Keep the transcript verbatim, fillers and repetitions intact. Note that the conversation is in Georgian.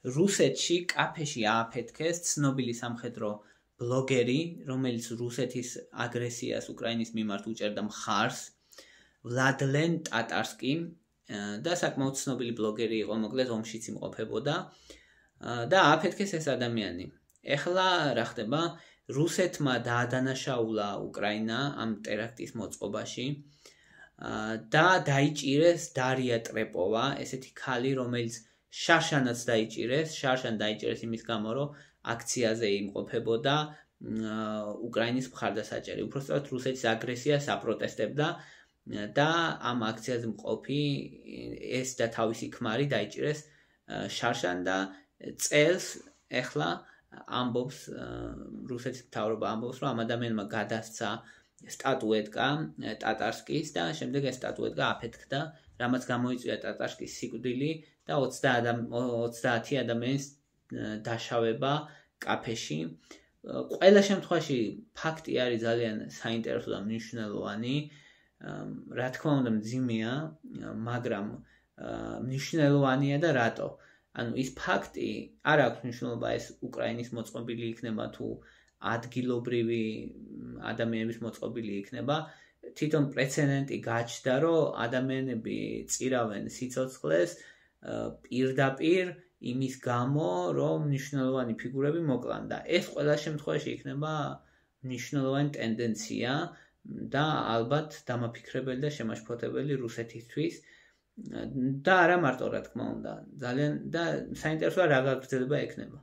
რუსეთში კაფეში ააფეთქეს ცნობილი სამხედრო ბლოგერი, რომელიც რუსეთის აგრესიას უკრაინის მიმართ უჭერდა მხარს, ვლადლენ ტატარსკი და საკმაოდ ცნობილი ბლოგერი იყო, მოკლედ ომშიც იმყოფებოდა და ააფეთქეს ეს ადამიანი. ეხლა რა ხდება? რუსეთმა დაადანაშაულა უკრაინა ამ ტერაქტის მოწყობაში და დაიჭირეს დარია ტრეპოვა, ესეთი ქალი, რომელიც შარშანაც დაიჭირეს, შარშან დაიჭირეს იმის გამო, რომ აქციაზე იმყოფებოდა უკრაინის მხარდასაჭერი. უпростоად რუსეთის აგრესიას აპროტესტებდა და ამ აქციაზე მყოფი ეს და თავისი ქმარი დაიჭირეს შარშან და წელს ეხლა ამბობს რუსეთის მთავრობა ამბობს, რომ ამ ადამიანმა გადასცა სტატუეტკა ტატარსკის და შემდეგ ეს სტატუეტკა აფეთქდა, რამაც გამოიწვია ტატარსკის სიკვდილი და ოცდაათი ადამიანის დაშავება კაფეში. ყველა შემთხვევაში ფაქტი არის ძალიან საინტერესო და მნიშვნელოვანი. რა თქმა უნდა მძიმეა, მაგრამ მნიშვნელოვანია და რატო? ანუ ის ფაქტი არ აქვს მნიშვნელობა ეს უკრაინის მოწყობილი იქნება თუ ადგილობრივი ადამიანების მოწყობილი იქნება. თვითონ პრეცედენტი გაჩნდა, რომ ადამიანები წირავენ სიცოცხლეს პირდაპირ იმის გამო, რომ მნიშვნელოვანი ფიგურები მოკლან და ეს ყველა შემთხვევაში იქნება მნიშვნელოვანი ტენდენცია და ალბათ დამაფიქრებელი და შემაშფოთებელი რუსეთისთვის და არა მარტო რა თქმა უნდა, ძალიან და საინტერესოა რა გაგრძელება ექნება.